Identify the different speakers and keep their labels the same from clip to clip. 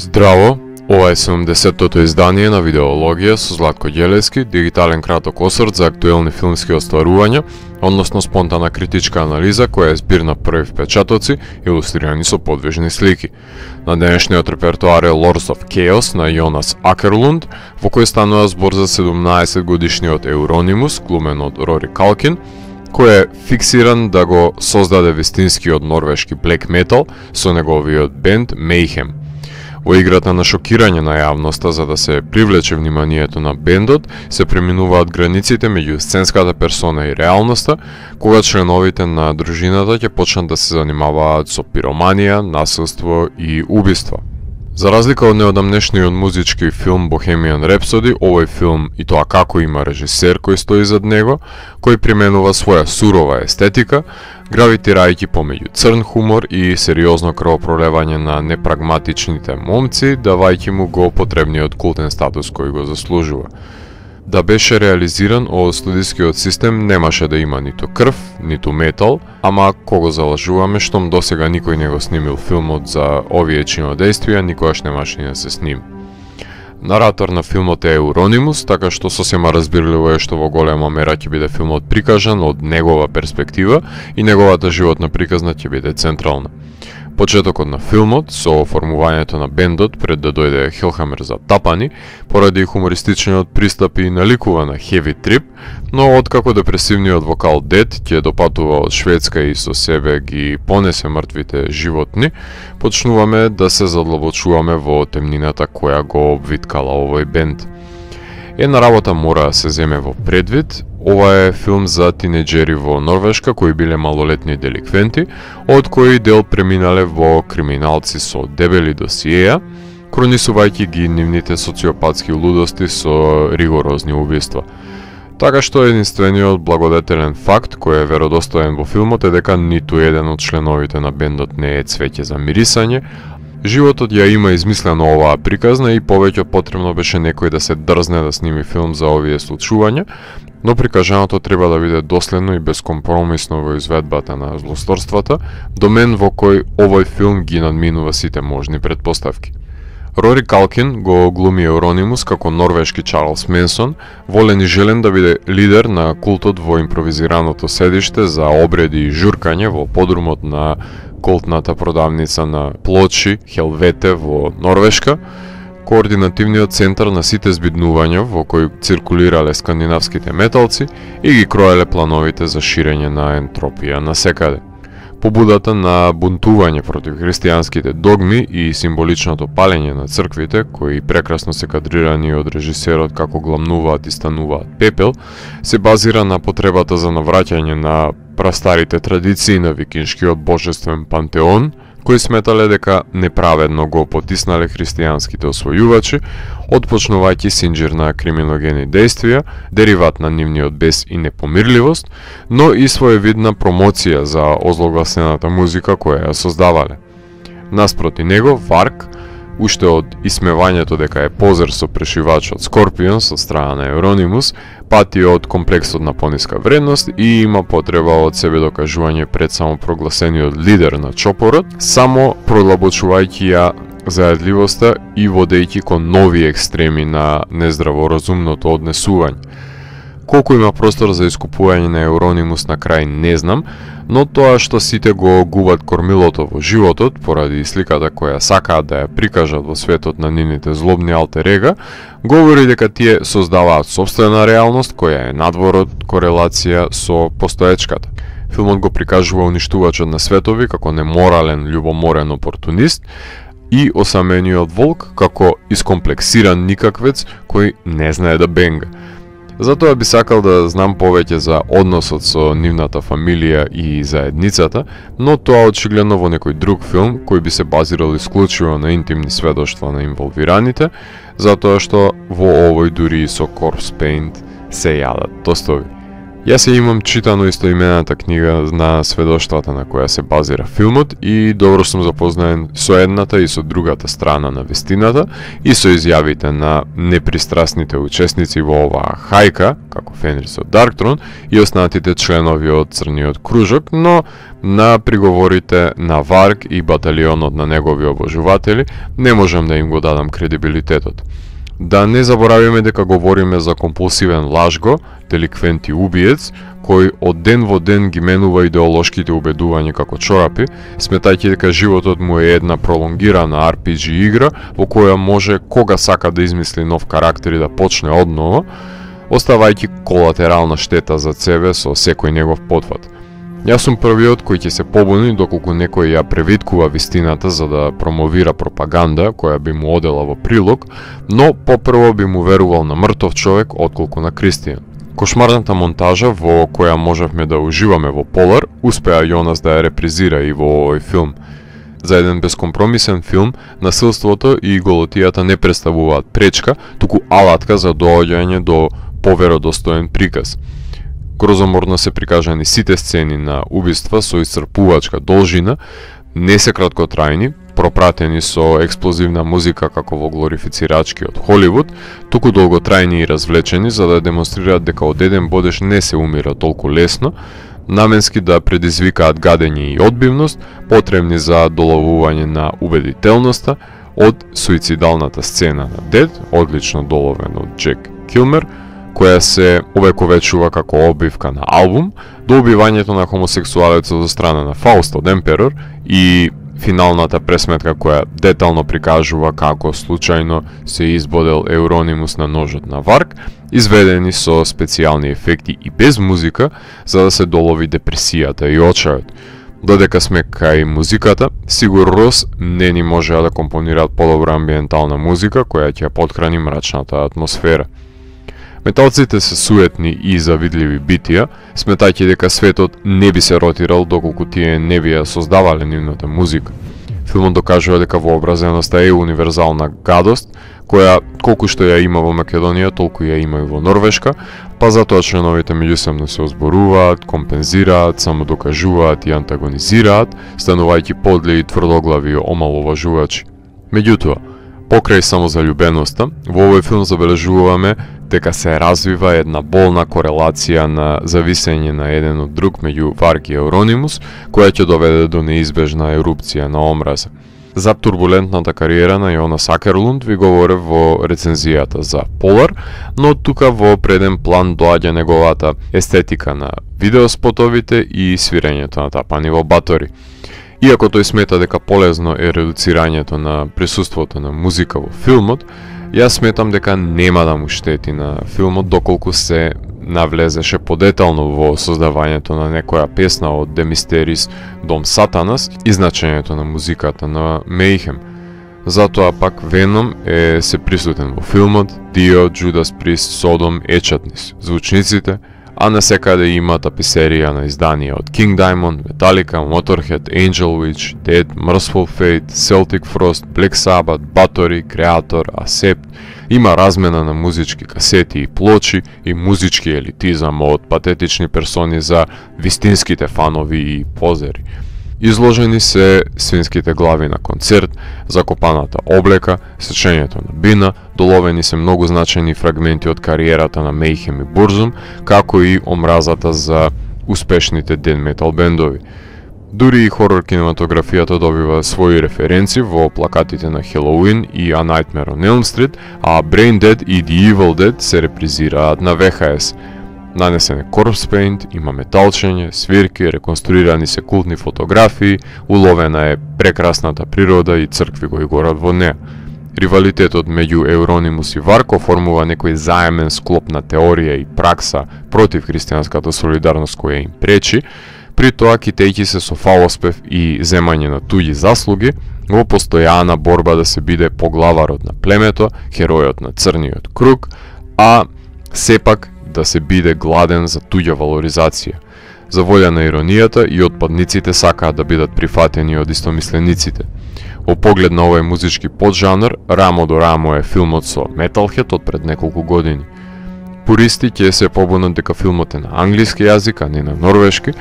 Speaker 1: Здраво, ова е 70-тото издание на Видеологија со Златко Ѓелевски, дигитален краток осврт за актуелни филмски остварувања, односно спонтана критичка анализа која е збир на први впечатоци, илустрирани со подвижни слики. На денешниот репертоар е Lords of Chaos на Јонас Акерлунд, во кој станува збор за 17 годишниот Еуронимус, глумен од Рори Калкин, кој е фиксиран да го создаде вистинскиот норвешки блек метал со неговиот бенд Mayhem. Во играта на шокирање на јавноста за да се привлече вниманието на бендот, се преминуваат границите меѓу сценската персона и реалноста, кога членовите на дружината ќе почнат да се занимаваат со пироманија, насилство и убиства. За разлика од неодамнешниот музички филм Bohemian Rhapsody, овој филм и тоа како има режисер кој стои зад него, кој применува своја сурова естетика, гравитирајќи помеѓу црн хумор и сериозно крвопролевање на непрагматичните момци, давајќи му го потребниот култен статус кој го заслужува. Да беше реализиран, овој студискиот систем немаше да има ниту крв, ниту метал, ама кого залажуваме, штом досега никој не го снимил филмот за овие чинодејствија, никогаш немаше ни да се сними. Наратор на филмот е Еуронимус, така што сосема разбирливо е што во голема мера ќе биде филмот прикажан од негова перспектива и неговата животна приказна ќе биде централна. Почетокот на филмот, со формувањето на бендот пред да дојде Хелхамер за тапани, поради хумористичниот пристап и наликува на Heavy Trip, но откако депресивниот вокал Дед ќе допатува од Шведска и со себе ги понесе мртвите животни, почнуваме да се задлабочуваме во темнината која го обвиткала овој бенд. Една работа мора да се земе во предвид. Ова е филм за тинеџери во Норвешка кои биле малолетни деликвенти, од кои дел преминале во криминалци со дебели досиеја, кронисувајќи ги нивните социопатски лудости со ригорозни убиства. Така што единствениот благодетелен факт кој е веродостоен во филмот е дека ниту еден од членовите на бендот не е цвеќе за мирисање. Животот ја има измислено оваа приказна и повеќе потребно беше некој да се дрзне да сними филм за овие случувања, но прикажаното треба да биде доследно и безкомпромисно во изведбата на злосторствата, домен во кој овој филм ги надминува сите можни предпоставки. Рори Калкин го глуми Еуронимус како норвешки Чарлс Менсон, волен и желен да биде лидер на култот во импровизираното седиште за обреди и журкање во подрумот на култната продавница на плочи Хелвете во Норвешка, координативниот центар на сите збиднувања во кој циркулирале скандинавските металци и ги кроеле плановите за ширење на ентропија насекаде. Побудата на бунтување против христијанските догми и символичното палење на црквите, кои прекрасно се кадрирани од режисерот како гламнуваат и стануваат пепел, се базира на потребата за навраќање на прастарите традиции на викиншкиот божествен пантеон, кои сметале дека неправедно го потиснале христијанските освојувачи, отпочнувајќи синџир на криминогени дејствија, дериват на нивниот бес и непомирливост, но и своевидна промоција за озлогласената музика која ја создавале. Наспроти него, Варк, уште од исмевањето дека е позер со прешивачот Скорпионс од страна на Еуронимус, пати од комплексот на пониска вредност и има потреба од себе докажување пред самопрогласениот лидер на чопорот, само продлабочувајќи ја заедливоста и водејќи кон нови екстреми на нездраворазумното однесување. Колку има простор за искупување на Еуронимус на крај не знам, но тоа што сите го губат кормилото во животот поради сликата која сакаат да ја прикажат во светот на нивните злобни алтерега, говори дека тие создаваат сопствена реалност која е надвор од корелација со постоечката. Филмот го прикажува уништувачот на светови како неморален, љубоморен опортунист и осамениот волк како искомплексиран никаквец кој не знае да бенга. Затоа би сакал да знам повеќе за односот со нивната фамилија и заедницата, но тоа очигледно во некој друг филм кој би се базирал исклучиво на интимни сведоштва на инволвираните, затоа што во овој дури и со Corpse Paint се јадат тостови. Јас имам читано истоимената книга на сведоштвата на која се базира филмот и добро сум запознаен со едната и со другата страна на вестината и со изјавите на непристрасните учесници во оваа хајка, како Фенрис од Дарктрон и останатите членови од Црниот кружок, но на приговорите на Варг и баталионот на негови обожуватели не можам да им го дадам кредибилитетот. Да не заборавиме дека говориме за компулсивен лажго, деликвент и убиец, кој од ден во ден ги менува идеолошките убедувања како чорапи, сметајќи дека животот му е една пролонгирана RPG игра во која може кога сака да измисли нов карактер и да почне одново, оставајќи колатерална штета за себе со секој негов потфат. Јас сум првиот кој ќе се побуни доколку некој ја превиткува вистината за да промовира пропаганда која би му одела во прилог, но попрво би му верувал на мртов човек отколку на Кристијан. Кошмарната монтажа во која можевме да уживаме во Полар, успеа Јонас да ја репризира и во овој филм. За еден безкомпромисен филм, насилството и голотијата не представуваат пречка, туку алатка за доаѓање до поверодостоен приказ. Грозоморно се прикажани сите сцени на убиства со исцрпувачка должина, не се краткотрајни, пропратени со експлозивна музика како во глорифицирачки од Холивуд, туку долготрајни и развлечени за да демонстрираат дека од еден бодеш не се умира толку лесно, наменски да предизвикаат гадење и одбивност, потребни за доловување на убедителноста од суицидалната сцена на Дед, одлично доловен од Джек Килмер, која се овековечува како обивка на албум, до убивањето на хомосексуалецот од страна на Фауст од Емперор и финалната пресметка која детално прикажува како случајно се избодел Еуронимус на ножот на Варг, изведени со специјални ефекти и без музика, за да се долови депресијата и очајот. Додека сме кај музиката, Сигур Рос не ни можеа да компонираат подобра амбиентална музика која ќе подхрани мрачната атмосфера. Металците се суетни и завидливи битија, сметајќи дека светот не би се ротирал доколку тие не би ја создавале нивната музика. Филмот докажува дека вообразеноста е универзална гадост, која колку што ја има во Македонија, толку ја има и во Норвешка, па затоа членовите меѓусебно се озборуваат, компензираат, самодокажуваат и антагонизираат, станувајќи подли и тврдоглави омаловажувачи. Меѓутоа, покрај самозалюбеноста, во овој филм забележуваме дека се развива една болна корелација на зависење на еден од друг меѓу Варг и Еуронимус, која ќе доведе до неизбежна ерупција на омраза. За турбулентната кариера на Јонас Акерлунд ви говорев во рецензијата за Полар, но тука во преден план доаѓа неговата естетика на видеоспотовите и свирењето на тапани во батори. Иако тој смета дека полезно е редуцирањето на присуството на музика во филмот, јас сметам дека нема да му штети на филмот доколку се навлезеше подетално во создавањето на некоја песна од The Mysteries Дом Сатанас и значењето на музиката на Мейхем. Затоа пак Веном е се присутен во филмот, Дио, Judas Priest, Содом, Ечатнис, звучниците, а на секаде има таписерија на изданија од King Diamond, Metallica, Motorhead, Angel Witch, Dead, Merciful Fate, Celtic Frost, Black Sabbath, Bathory, Kreator, Accept. Има размена на музички касети и плочи и музички елитизам од патетични персони за вистинските фанови и позери. Изложени се свинските глави на концерт, закопаната облека, сечењето на бина, доловени се многу значајни фрагменти од кариерата на Мейхем и Бурзум, како и омразата за успешните ден метал бендови. Дури и хорор кинематографијата добива своји референци во плакатите на Halloween и A Nightmare on Elm Street, а Brain Dead и The Evil Dead се репризираат на VHS. Нанесен е corpse paint, има металчење, свирки, реконструирани се култни фотографии, уловена е прекрасната природа и цркви кои горат во неа. Ривалитетот меѓу Еуронимус и Варг оформува некој заемен склоп на теорија и пракса против христијанската солидарност која им пречи, при тоа китејќи се со фалоспев и земање на туѓи заслуги, во постојана борба да се биде поглаварот на племето, херојот на Црниот круг, а сепак да се биде гладен за туѓа валоризација. За волја на иронијата и отпадниците сакаат да бидат прифатени од истомислениците. Во поглед на овој музички поджанр, рамо до рамо е филмот со Metalhead од пред неколку години. Пуристи ќе се побунат дека филмот е на англиски јазик, а не на норвешки,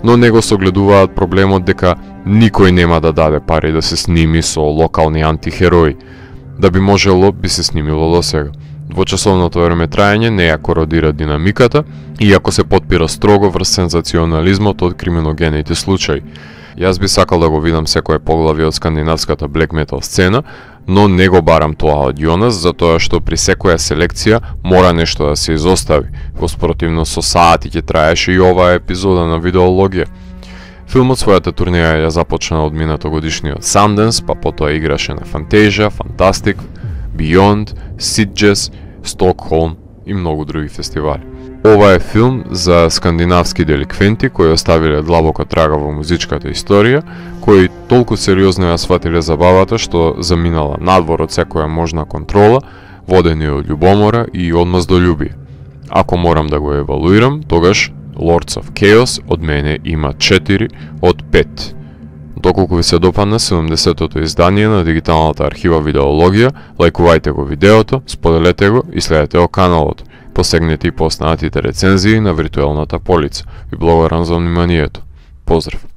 Speaker 1: но него согледуваат проблемот дека никој нема да даде пари да се сними со локални антихерои. Да би можело, би се снимило до сега. Двочасовното времетраење не ја кородира динамиката, иако се потпира строго врз сензационализмот од криминогените случаи. Јас би сакал да го видам секое поглавје од скандинавската black metal сцена, но не го барам тоа од Јонас, затоа што при секоја селекција мора нешто да се изостави. Во спротивно со саати ќе траеше и оваа епизода на видеологија. Филмот својата турнеја ја започна од минатогодишниот Sundance, па потоа играше на Fantasia, Fantastic, Beyond, Sitges, Stockholm и многу други фестивали. Ова е филм за скандинавски деликвенти кои оставиле длабока трага во музичката историја, кои толку сериозно ја сватиле забавата што заминала надвор од секоја можна контрола, водени од љубомора и одмаздолюбие. Ако морам да го евалуирам, тогаш Lords of Chaos од мене има 4 од 5. Доколку ви се допадна 70-тото издание на дигиталната архива Видеологија, лајкувајте го видеото, споделете го и следете го каналот. Посегнете и по останатите рецензии на виртуелната полица. Ви благодарам за вниманието. Поздрав!